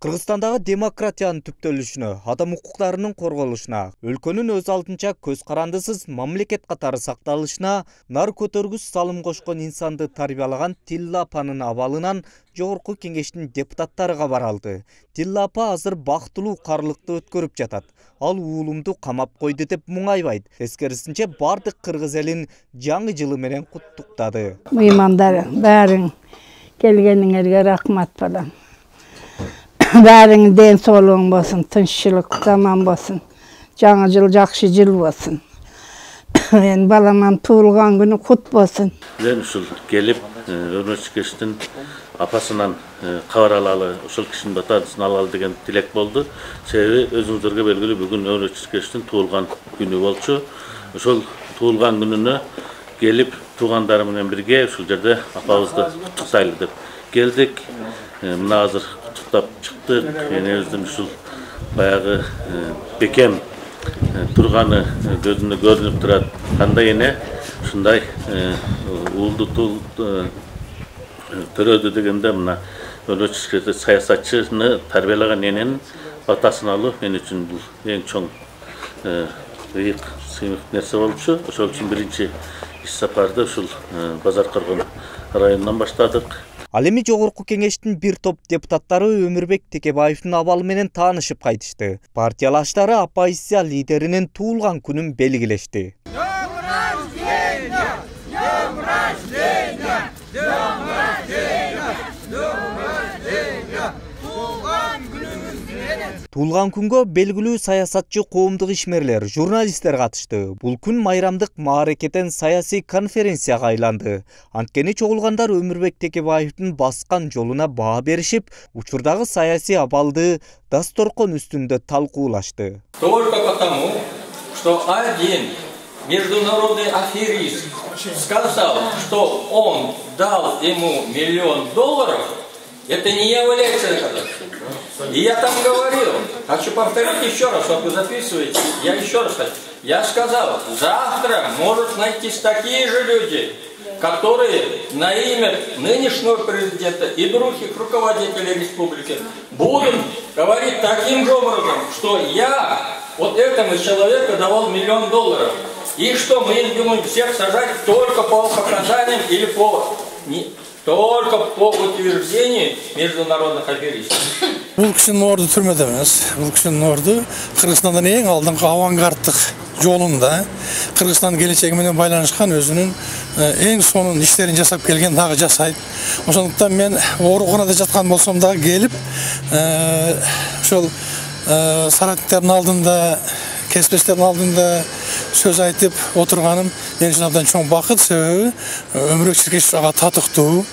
Кыргызстандагы демократиянын түптөлүшүнө, адам укуктарынын корголушуна, өлкөнүн өз алдынча көз карандысыз мамлекет катары сакталышына нар көтөргүс салым кошкон инсанды тарбиялаган Тилла апанын абалынан Жогорку Кеңештин депутаттары кабар алды. Тилла апа азыр бактылуу карлыкты өткөрүп жатат. Ал уулумду камап койду деп муңайбайт. Тескерисинче бардык кыргыз элин жаңы жылы менен куттуктады. Мыймандар баарың келгениңерге рахмат балам. Бәрің ден соолугуң болсын, тынччылык заман болсын. Жаңы жыл жакшы жыл болсын. Мен баламан туулган күнү кут болсын. Мен ушул келип, Өрмөчү Кештин апасынан кабар алалы, ушул кишинин батасын алалы деген тилек болду. Себеби өзүңүздөргө белгилүү бүгүн Өрмөчү Кештин туулган күнү болчу. Ошол туулган күнүнө келип, туугандарым менен бирге ушул жерде апабызды куттуктайлы деп келдик. Мына азыр куттуктап чыктык. Энебиздин ушул баягы бекем турганы көзүнө көрүнүп турат. Кандай эне ушундай уулду төрөдү дегенде мына Өрмөчү саясатчыны тарбиялаган эненин батасын алуу мен үчүн бул эң чоң ыйык сыймык нерсе болчу. Ошол үчүн биринчи иш сапарды ушул Базар Коргон районунан баштадык. Ал эми Жогорку Кеңештин бир топ депутаттары Өмүрбек Текебаевдин абалы менен таанышып кайтышты. Партиялаштары оппозиция лидеринин туулган күнүн белгилешти. Туулган күнгө белгилүү саясатчы, коомдук ишмерлер, журналисттер катышты. Бул күн майрамдык мааракеден саясий конференцияга айланды. Анткени чогулгандар Өмүрбек Текебаевдин баскан жолуна баа беришип, учурдагы саясий абалды дасторкон үстүндө талкуулашты. Только потому, что один международный аферист сказал, что он дал ему $1 миллион, это не является доказательством. И я там говорил, хочу повторить еще раз, вот вы записываете, я еще раз хочу. Я сказал, завтра может найтись такие же люди, которые на имя нынешнего президента и других руководителей республики будут говорить таким же образом, что я вот этому человеку давал $1 миллион. И что мы будем всех сажать только по показаниям или только по утверждению международных аферистов. Бул кишинин орду түрмөдө эмес. Бул кишинин орду Кыргызстандын эң алдыңкы авангарддык жолунда, Кыргызстандын келечеги менен байланышкан өзүнүн эң сонун иштерин жасап келген, дагы жасайт. Ошондуктан мен ооруканада жаткан болсом дагы келип, ошол соратниктердин алдында, кесиптештердин алдында сөз айтып отурганым мен үчүн абдан чоң бакыт. Себеби Өмүрбек Кеш ага татыктуу.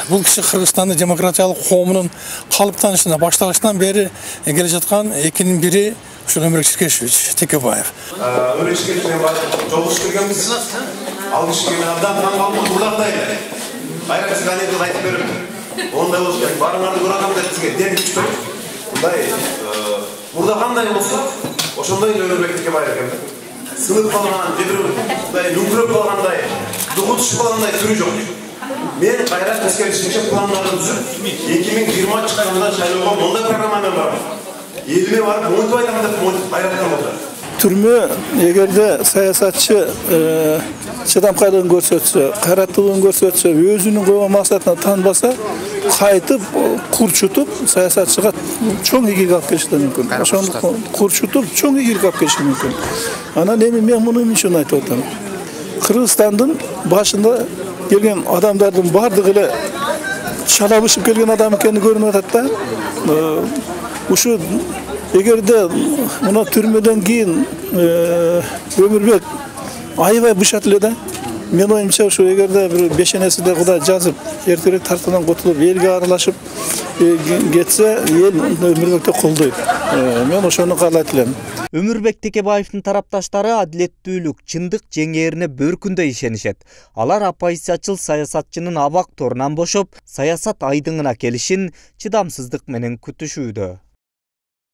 Бул киши Кыргызстандын демократиялык коомунун калыптанышына башталыштан бери келе жаткан экинин бири ушул Өмүрбек Кеш Текебаев. Өрмөчү Кеш менен жолугушуп келгенбиз. Ал кишиге мен абдан таң калдым. Бурдагыдай эле. Кайра сиз анекдот айтып берип, ондай болуш керек. Барыңарды көргөм деп сизге дем күчтүр. Мындай мурда кандай болсо, ошондой Өмүрбек Текебаев экен. Сынып калган, мындай нүкүрөп калгандай, дугу түшүп калгандай түрү жок. Мен кайра тескерисинче пландарды түзүп, 2020 чыкканда шайлоого мындай программамен барам. Элиме барып, монтип айтам деп айраттан болду. Түрмө эгерде саясатчы чыдамкайлыгын көрсөтсө, кайраттуулугун көрсөтсө, өзүнүн койгон максатына таанбаса, кайтып курчутуп саясатчыга чоң ийгилик алып келиши мүмкүн. Ошондуктан курчутуп чоң ийгилик алып келиши мүмкүн. Анан эми мен муну эмне үчүн айтып атам? Кыргызстандын башында келген адамдардын бардыгы эле чалабышып келген адам экени көрүнүп атат да. Ушу эгерде мына түрмөдөн кийин Өмүрбек аябай бышат эле да. Мен оюмча ушу эгерде бир бешенесиде Кудай жазып, эртерээк тартуудан кутулуп, элге аралашып кетсе, эл Өмүрбекти колдойт. Мен ошону каалайт элем. Өмүрбек Текебаевдин тарапташтары адилеттүүлүк, чындык жеңээрине бөркүндөй ишенишет. Алар оппозициячыл саясатчынын абак торунан бошоп, саясат айдыңына келишин чыдамсыздык менен күтүшүүдө.